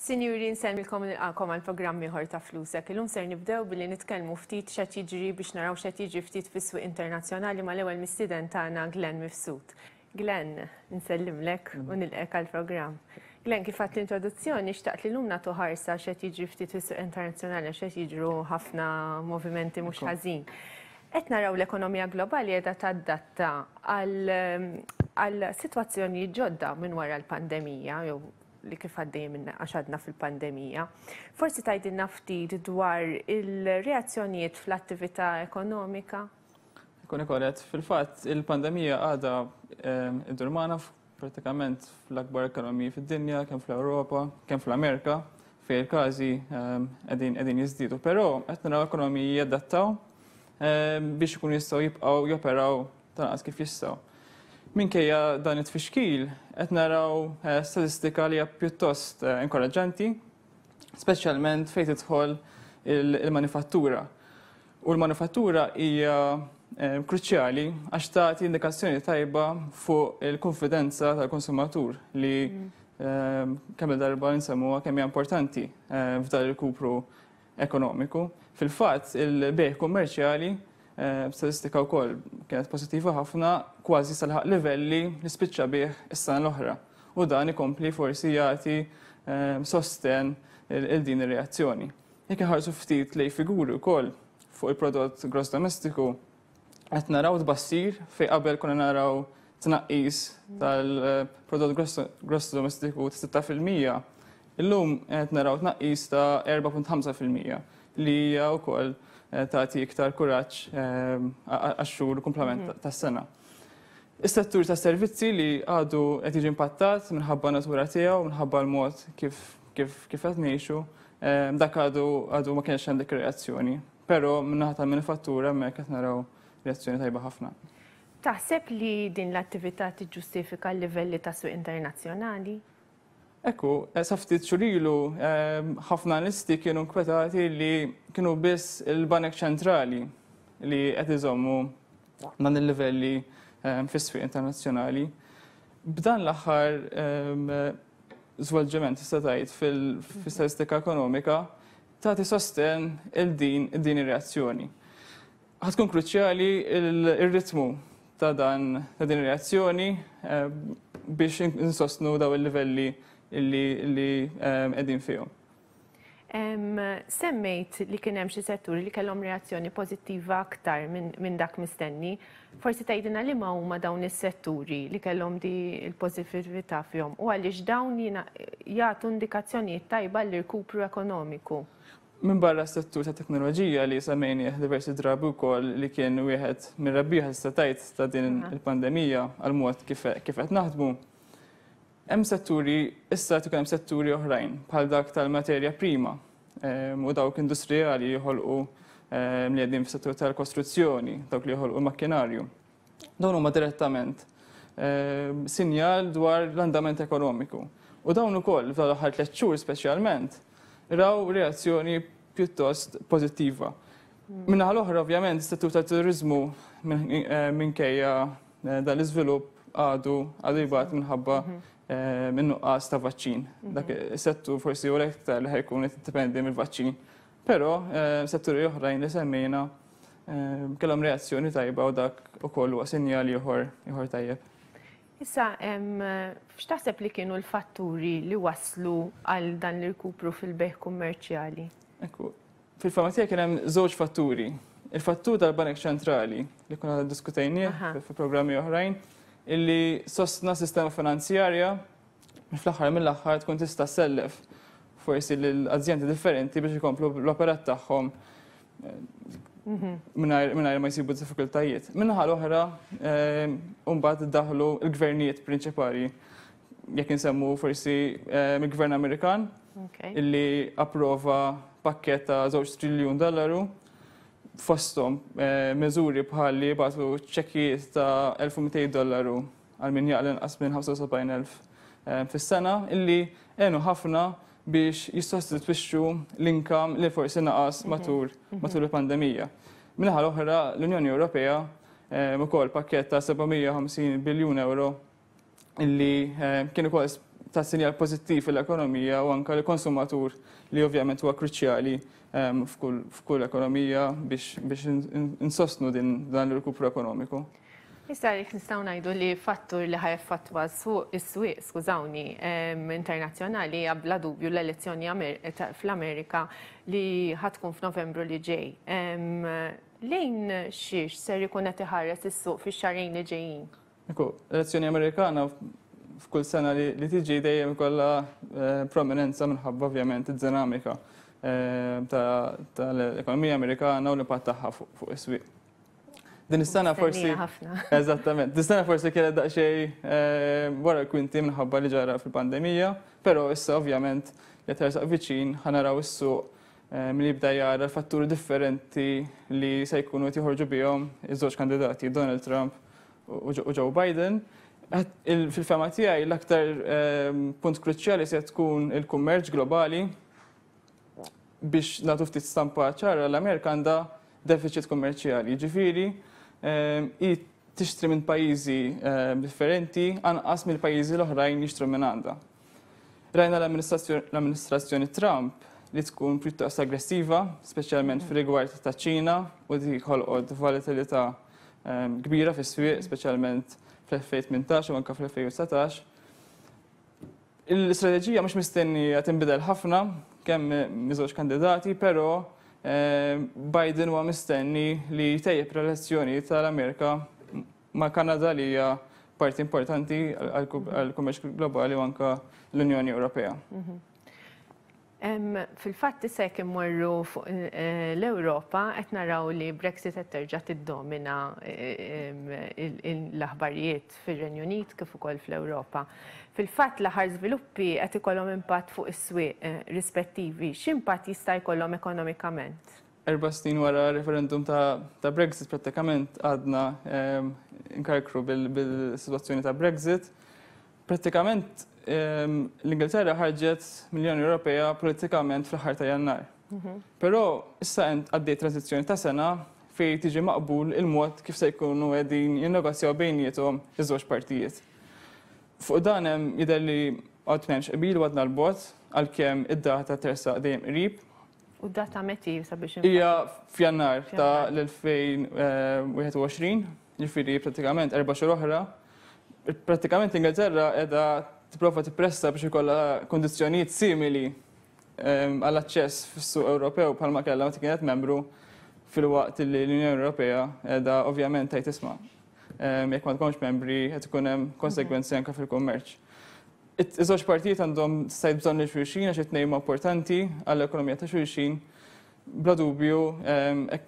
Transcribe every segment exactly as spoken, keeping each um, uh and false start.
Sinjuri, nsellmilkom, nilqagħkom għal programm ieħor ta' Flusek. Illum ser nibdew billi nitkellmu ftit x'qed jiġri biex naraw x'qed jiġri ftit fis-swieq internazzjonali mal-ewwel mistieden tagħna, Glenn Mifsud. Glenn, nsellimlek u nilqgħek għall-programm. Glenn, kif għedt l-introduzzjoni, xtaqt li llum nagħtu ħarsa x'qed jiġri ftit fis-swieq internazzjonali għax qed jiġru ħafna movimenti mhux ħażin. Qed naraw l-ekonomija globali qiegħda tadatta għal sitwazzjoni ġodda minn wara l-pandemija, jew li kif għaddej minn għax għadna fil-pandemija. Forsi tgħidilna ftit dwar il-reazzjonijiet fl-attività ekonomika? Kun korrett, fil-fatt il-pandemija għadha iddur magħna pratikament fl-akbar ekonomiji fid-dinja, kemm fl-Ewropa, kemm fl-Amerika, fejn il-każi qegħdin qegħdin jiżdiedu. Però qed naraw ekonomiji jadattaw biex ikunu jistgħu jibqgħu joperaw tal-anqas kif jistgħu. Minkejja dan it-tfixkil, qed naraw eh, statistika li hija pjuttost eh, inkoraġġanti, speċjalment fejn tidħol il-manifattura. U l-manifattura hija eh, kruċjali għax tagħti indikazzjoni tajba fuq il-konfidenza tal-konsumatur li mm. kemm darba nsemmuha kemm hija importanti f'dan il-kupru ekonomiku. Fil-fatt, il-bejgħ kummerċjali, Eh, statistika wkoll kienet pożittiva ħafna, kważi laħaq livelli li spiċċa bih is-sena l-oħra. U dan ikompli forsi jagħti eh, sosten il din ir-reazzjoni. Jekk inħarsu ftit lejn figuri wkoll fuq il-prodott gross domestiku, qed naraw tbassir fejn qabel konna naraw tnaqqis tal-prodott gross domestiku ta' sitta fil-mija, illum qed naraw tnaqqis ta' erbgħa punt ħamsa fil-mija li hija wkoll eh, tagħti iktar kuraġġ eh, għax-xhur kumplament mhm. tas-sena. Is-settur ta' servizzi li għadu qed jiġi impattat minħabba natura tiegħu, minħabba l-mod kif kif kif qed ngħixu, eh, dak għadu għadu ma kienx għandek reazzjoni. Però min-naħa tal-manifattura hemmhekk qed naraw reazzjoni tajba ħafna. Taħseb li din l-attività tiġġustifika l-livelli ta' suq internazzjonali? Ekku, eh, sa ftit xhur ilu eh, ħafna analisti kienu nkwetati li kienu biss il-Banek Ċentrali li qed iżommu dan il-livelli eh, fis-swieq internazzjonali. B'dan l-aħħar żvolġiment, tista' tgħid, fil-statistika ekonomika tagħti sosten il din din ir-reazzjoni. Ħa tkun kruċjali il-ritmu ta' dan ta' din ir-reazzjoni biex insostnu daw il-livelli illi li qegħdin fihom. Semmejt li kien hemm xi setturi li kellhom reazzjoni pożittiva aktar minn dak mistenni. Forsi tgħidilna li ma huma dawn is-setturi li kellhom di l-pożittività fihom u għaliex dawn jagħtu indikazzjonijiet tajba l-irkupru ekonomiku. Minn barra s-settur ta' teknoloġija li semmejni diversi drabi wkoll li kien wieħed minn rebbieħa, tista' tgħid, ta' din il-pandemija għal mod kif qed naħdmu. Hemm setturi, issa tkun hemm setturi oħrajn bħal dak tal-materja prima u dawk industrijali joħolqu, li qegħdin fis-settur tal-kostruzzjoni, dawk li joħolqu makkinarju. Dawn huma direttament sinjal dwar l-andament ekonomiku. U dawn ukoll f'dawn l-aħħar tliet xhur speċjalment raw reazzjoni pjuttost pożittiva. Min-naħa l-oħra, ovvjament, is-settur tat-turizmu, minkejja eh, dan l-iżvilupp, għadu għadu jbati minħabba mhm. Eh, minn nuqqas ta' vaċċin. Mhm. Dak is-settur forsi u l-iktar li ħa jkun jiddependi mill-vaċċin. Però eh, setturi oħrajn li semmejna eh, kellhom reazzjoni tajba u dak ukoll huwa sinjal ieħor ieħor tajjeb. Issa, x'taħseb li kienu l-fatturi li waslu għal dan l-irkupru fil-bejgħ kummerċjali? Ekku, fil-fehma tiegħi kien hemm żewġ fatturi. Il-fattur tal-Banek Ċentrali li konna diskutejnieh fi programmi oħrajn, illi sostna sistema finanzjarja fl-aħħar mill-aħħar tkun tista' sellef forsi l-azjendi differenti biex ikomplu l-operat tagħhom eh, mingħajr ma jsibu diffikultajiet. Min-naħa l-oħra, eh, mbagħad daħlu l-gvernijiet prinċipali, jekk insemmu forsi eh, mill-gvern Amerikan illi approva pakket ta' żewġ triljun dollaru, fostom eh, miżuri bħal li bagħtu ċekkijiet ta' elf u mitejn dollaru għal min jaqla' inqas minn ħamsa u sebgħin elf eh, fis-sena, illi għenu ħafna biex jissostitwixxu l-income li forsi naqas mhm. matul matul il-pandemija. Min-naħa l-oħra, l-Unjoni Ewropea eh, ukoll pakket ta' seba' mija u ħamsin biljun euro illi kien ukoll ta' sinjal pożittiv fil-ekonomija u anka l-konsumatur, li ovvjament huwa kruċjali f'kull ekonomija biex insostnu din dan l-rkupru ekonomiku. Issa jekk nistgħu ngħidu li fattur li ħa jaffettwa is-swieq, skużawni, internazzjonali hija bla dubju l-elezzjoni fl-Amerika li ħa tkun f'Novembru li ġej. Lejn xiex ser ikun qed iħares is-suq fix-xahrejn li ġejjin? Ekku, l-elezzjoni Amerikana f'kull sena li tiġi dejjem ikollha eh, prominenza minħabba ovvjament id-dinamika eh, tal-ekonomija Amerikana u l-impatt tagħha fuq is-swieq. Din is-sena forsi. Eżattament. Din is-sena forsi kienet daqsxejn eh, wara l-kwinti minħabba li ġara fil-pandemija, però issa ovvjament li tersaq viċin ħa naraw is-suq milli jibda jara fatturi differenti li se jkunu qed joħorġu bihom iż-żewġ kandidati, Donald Trump u Joe Biden. Fil-fehma tiegħi, l-aktar ehm, punt kruċjali se tkun il-kummerċ globali. Biex nagħtu ftit stampa ċara, l-Amerika għandha deficit kummerċjali, ġifieri ehm, i tixtri minn pajjiżi ehm, differenti anqas mill-pajjiżi l-oħrajn jixtru minn għandha. Rajna l-amministrazzjoni Trump li tkun pjuttost aggressiva, speċjalment fil-rigward ta' Ċina, u dik ħolqot volatilità kbira fis-swieq, speċjalment fl-elfejn u tmintax u anka fl-elfejn u dsatax. Il-istrateġija mhux mistennija tinbidel ħafna kemm miż-żewġ kandidati, però eh, Biden huwa mistenni li jtejjeb relazzjoni tal-Amerika ma' Kanada, li hija parti importanti għal-kummerċ globali, u anka l-Unjoni Ewropea. Mhm. Fil-fatt issa jekk immorru fuq eh, l-Ewropa, qed naraw li Brexit qed terġa' tiddomina eh, l-aħbarijiet fir-Renju Unit kif ukoll fl-Ewropa. Fil-fatt l-aħħar żviluppi qed ikollhom impatt fuq is-swieq eh, rispettivi. X'impatt jista' jkollhom ekonomikament? Erba' snin wara referendum ta', ta Brexit prattikament għadna nkarkru bil-situazzjoni ta' Brexit. Prattikament l-Ingilterra ħarġet mill-Unjoni Ewropea politikament fl-aħħar ta' Jannar. Mhm. Però issa għaddej tranzizzjoni ta' sena fej tiġi maqbul il-mod kif se jkunu qegħdin jinnegozjaw bejniethom iż-żewġ partijiet. Fuq dan hemm jidher li għad m'hemmx qbil u għadna l-bogħod, għalkemm id-data tersaq dejjem qrib. U d-data meti sabiex? Hija f'Jannar ta' l-elfejn u wieħed u għoxrin, ġifieri pratikament erba' xhur oħra. Pratikament l-Ingilterra qiegħda tipprova tippressa biex ikollha kondizzjonijiet simili għall-aċċess fis-suq Ewropew bħalma kellha meta kienet membru, filwaqt li l-Unjoni Ewropea qiegħda ovvjament tgħid, "Isma', jekk ma tkunx membri qed ikun hemm konsegwenzi anke fil-kummerċ." Iż-żewġ partijiet għandhom stajt bżonn lil xulxin għax it-tnejn importanti għall-ekonomija ta' xulxin. Bla dubju,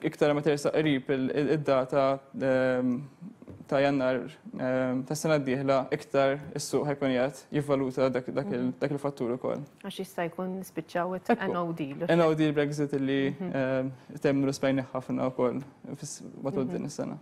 iktar ma tersaq qrib id-data ta' Jannar ta' sena d-dieħla, iktar is-suq ħa jkun qiegħed jivvaluta dak il-fattur ukoll. Għax jista' jkun spiċċaw no deal. No deal Brexit illi mhm. temmu l-Spajni ħafna wkoll matul din is-sena.